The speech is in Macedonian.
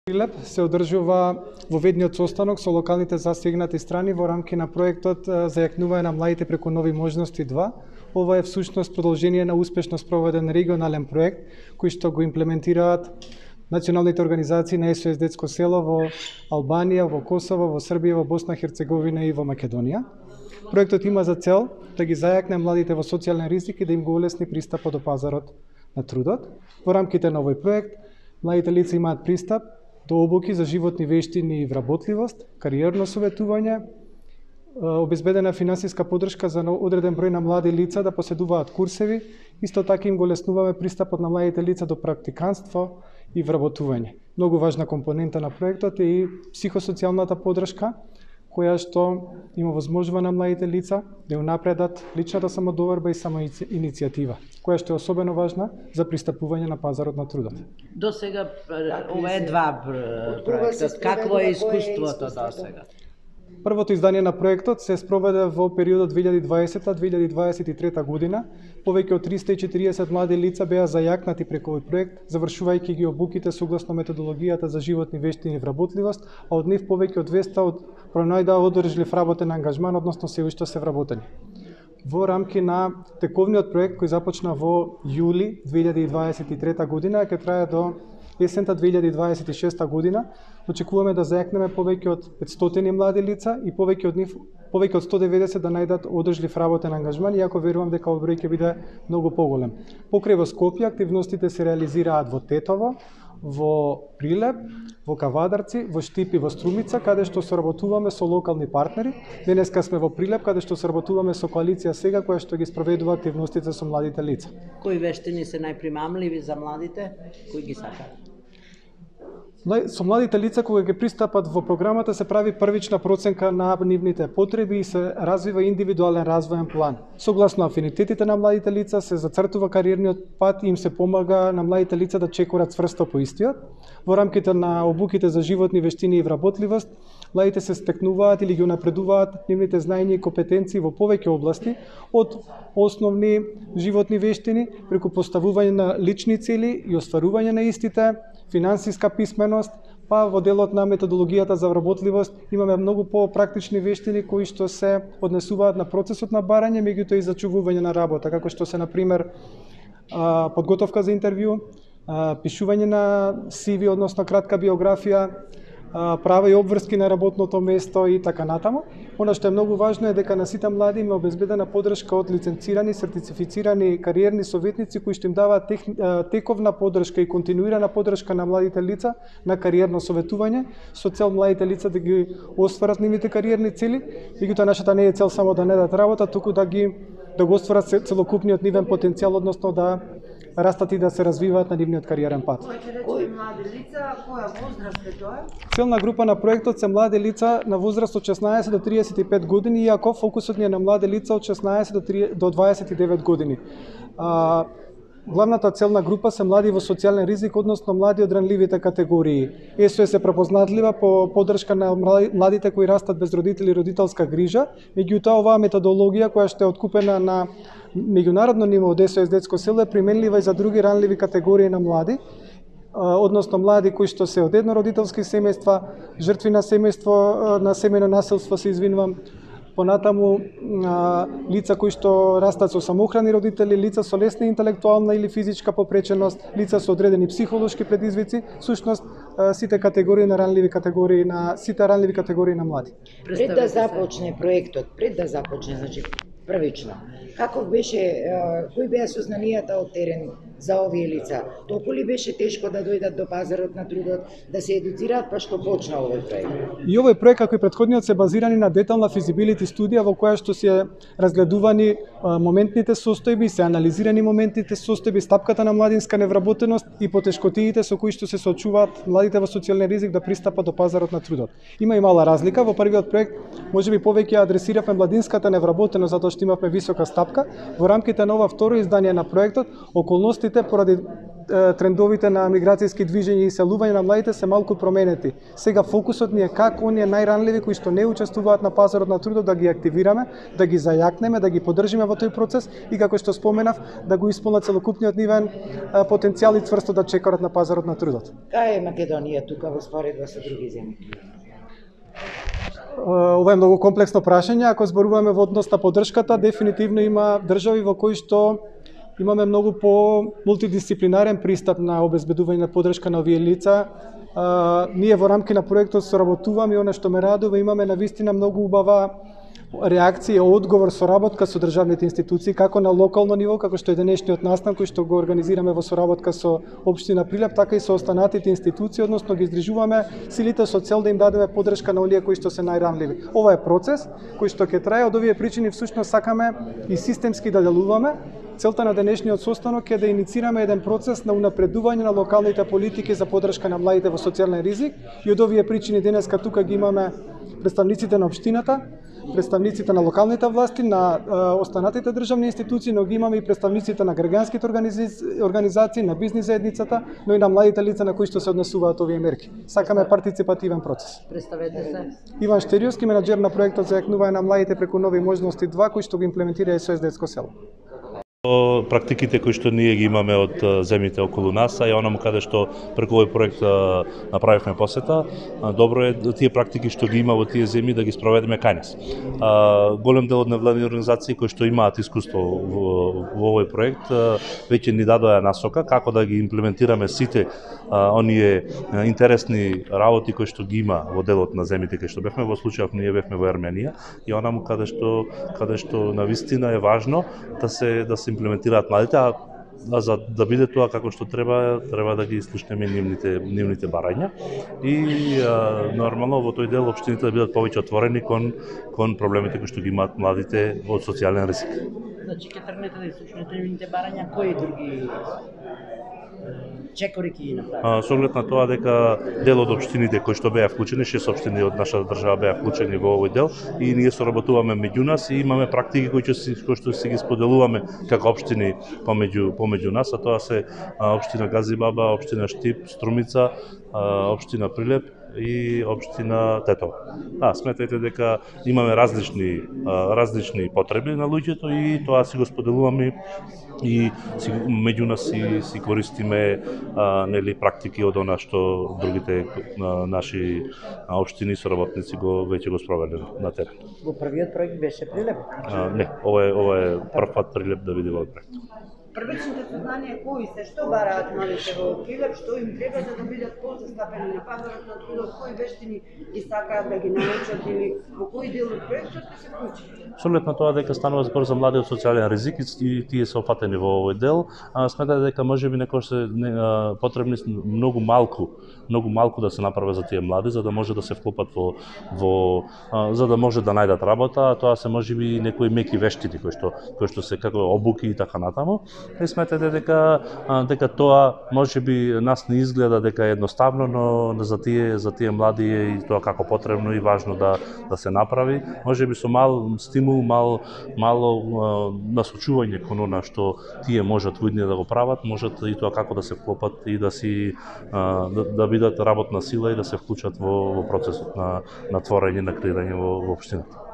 Прилеп се одржува во ведниот состанок со локалните засегнати страни во рамки на проектот за јакнување на младите преку нови можности 2. Ова е всушност продолжение на успешно спроведен регионален проект кој што го имплементираат националните организации на СОС Детско село во Албанија, во Косово, во Србија, во Босна и Херцеговина и во Македонија. Проектот има за цел да ги зајакне младите во социјален ризик и да им го улесни пристапот до пазарот на трудот. Во рамките на овој проект младите лица имаат пристап до обуки за животни вештини и вработливост, кариерно советување, обезбедена финансиска поддршка за одреден број на млади лица да поседуваат курсеви, исто така им го леснуваме пристапот на младите лица до практиканство и вработување. Многу важна компонента на проектот е и психосоцијалната поддршка, која што има возможува на младите лица да ја напредат личната самодоверба и самоиницијатива, која што е особено важна за пристапување на пазарот на трудот. До сега ова е два проектот. Какво е искуството до сега? Првото издание на проектот се спроведе во периодот 2020-2023 година. Повеќе од 340 млади лица беа зајакнати преку овој проект, завршувајќи ги обуките согласно методологијата за животни вештини и вработливост, а од нив повеќе од 200 пронајдоа одржлив работен ангажман, односно се уште се вработени. Во рамки на тековниот проект кој започна во јули 2023 година, ќе трае до есента 2026 година, очекуваме да зајакнеме повеќе од 500 млади лица и повеќе од нив повеќе од 190 да најдат одржлив работен ангажман, иако верувам дека овој број ќе биде многу поголем. Покрај во Скопје активностите се реализираат во Тетово, во Прилеп, во Кавадарци, во Штип и во Струмица, каде што соработуваме со локални партнери. Денеска сме во Прилеп, каде што соработуваме со коалиција Сега, која што ги спроведува активностите со младите лица. Кои вештини се најпримамливи за младите? Кои ги сакаат? Со младите лица кога ќе пристапат во програмата се прави првична проценка на нивните потреби и се развива индивидуален развоен план. Согласно афинитетите на младите лица се зацртува кариерниот пат и им се помага на младите лица да чекорат цврсто по истиот. Во рамките на обуките за животни вештини и вработливост, младите се стекнуваат или ги унапредуваат нивните знаења и компетенции во повеќе области, од основни животни вештини преку поставување на лични цели и остварување на истите, финансиска писменост, па во делот на методологијата за вработливост имаме многу по-практични вештини кои што се однесуваат на процесот на барање, меѓутоа и зачувување на работа, како што се например подготовка за интервју, пишување на CV, односно кратка биографија, права и обврски на работното место и така натаму. Она што е многу важно е дека на сите млади им е обезбедена поддршка од лиценцирани, сертифицирани кариерни советници кои што им даваат тековна поддршка и континуирана поддршка на младите лица на кариерно советување со цел младите лица да ги остварат нивните кариерни цели. Меѓутоа нашата не е цел само да не дадат работа, туку да го остварат целокупниот нивен потенцијал, односно да растат и да се развиваат на нивниот кариерен пат. Кои млади лица, која возраст е тоа? Целна група на проектот се млади лица на возраст од 16 до 35 години, иако фокусот ни е на млади лица од 16 до 29 години. Главната целна група се млади во социјален ризик, односно млади од ранливите категории. СОС е препознатлива по поддршка на младите кои растат без родители и родителска грижа, меѓутоа оваа методологија која што е откупена на меѓународно ниво од СОС Детско село е применлива и за други ранливи категории на млади, односно млади кои што се од еднородителски семејства, жртви на семејство, на семејно насилство, се извинувам, понатаму лица кои што растат со самоохрани родители, лица со лесна интелектуална или физичка попреченост, лица со одредени психолошки предизвици, всушност сите ранливи категории на млади. Пред да започне проектот, значи првично, каков беше, кои беа сознанијата од терен за овие лица? Толку ли беше тешко да дојдат до пазарот на трудот, да се едуцираат, па што почна овој проект? И овој проект, како и претходниот, се базирани на детална физибилити студија во која што се разгледувани моментните состојби, се анализирани моментните состојби, стапката на младинска невработеност и потешкотиите со кои што се соочуваат младите во социјален ризик да пристапат до пазарот на трудот. Има и мала разлика, во првиот проект можеби повеќе адресиравме младинската невработеност затоа што имавме висока стапка. Во рамките на ова второ издание на проектот, околностите поради трендовите на миграцијски движења и селување на младите се малку променети. Сега фокусот ни е како оние најранливи кои што не учествуваат на пазарот на трудот да ги активираме, да ги зајакнеме, да ги поддржиме во тој процес и како што споменав, да го исполнат целокупниот нивен потенцијал и цврсто да чекорат на пазарот на трудот. Кај е Македонија тука во споредба со други земји? Ова е многу комплексно прашање. Ако зборуваме во однос на поддршката, дефинитивно има држави во кои што имаме многу по мултидисциплинарен пристап на обезбедување на поддршка на овие лица. Ние во рамки на проектот соработуваме и оно што ме радува, имаме навистина многу убава реакција, одговор, соработка со државните институции, како на локално ниво, како што е денешниот настан кој што го организираме во соработка со општина Прилеп, така и со останатите институции, односно ги издржуваме силите со цел да им дадеме поддршка на оние кои што се најранливи. Ова е процес кој што ќе трае, од овие причини всушност сакаме и системски да делуваме. Целта на денешниот состанок е да иницираме еден процес на унапредување на локалните политики за поддршка на младите во социјален ризик и од овие причини денеска тука ги имаме представниците на општината, представниците на локалните власти, на останатите државни институции, но ги имаме и представниците на граѓанските организации, на бизнис заедницата, но и на младите лица на кои што се однесуваат овие мерки. Сакаме партиципативен процес. Представете се. Иван Штериовски, менаџер на проектот за јакнување на младите преку нови можности 2, кој што го имплементира СОС Детско село. Практиките кои што ние ги имаме од земјите околу нас, а и онаму каде што преку овој проект направивме посета, добро е тие практики што ги има во тие земји да ги спроведеме кај нас. Голем дел од невладини организации кои што имаат искуство во овој проект веќе ни дадоа насока како да ги имплементираме сите оние интересни работи кои што ги има во делот на земјите кои што бевме. Во случајов ние бевме во Ерменија и онаму каде што навистина е важно да се имплементираат младите, а за да биде тоа како што треба да ги слушнеме нивните барања и нормално во тој дел општините да бидат повеќе отворени кон проблемите кои што ги имаат младите од социјален ризик. Значи ќе тргнете да слушнете нивните барања, кои други чекори ќе ги направи? Со оглед на тоа дека дел од општините кои што беа вклучени, 6 општини од нашата држава беа вклучени во овој дел и ние соработуваме меѓу нас и имаме практики кои што си ги споделуваме како општини помеѓу нас, а тоа се општина Газибаба, општина Штип, Струмица, општина Прилеп и општина Тетово. Сметајте дека имаме различни потреби на луѓето и тоа си го споделуваме и меѓу нас си користиме практики од она што другите наши општини соработници веќе го спровеле на терен. Во првиот проект беше Прилеп? Не, ова е прв пат Прилеп да биде во проект. Првичните сознанија кои се, што бараат младите во Прилеп, што им треба за да бидат позастапени на пазарот на трудот, кои вештини ги сакаат да ги научат или во кој дел од проектот ќе се вклучи? Со оглед на тоа дека станува збор за млади од социјален ризик и тие се опфатени во овој дел, сметате дека можеби некој се потребни многу малку да се направи за тие млади за да може да се вклопат за да може да најдат работа, тоа се можеби некои меки вештини кои што се како обуки и така натаму. И сметате дека тоа можеби нас не изгледа дека е едноставно, но за тие млади е и тоа како потребно и важно да се направи. Можеби со мал стимул, мало насочување кон она што тие можат во иднина да го прават, можат и тоа како да се вклопат и да бидат работна сила и да се вклучат во процесот на творење, на креирање во општината.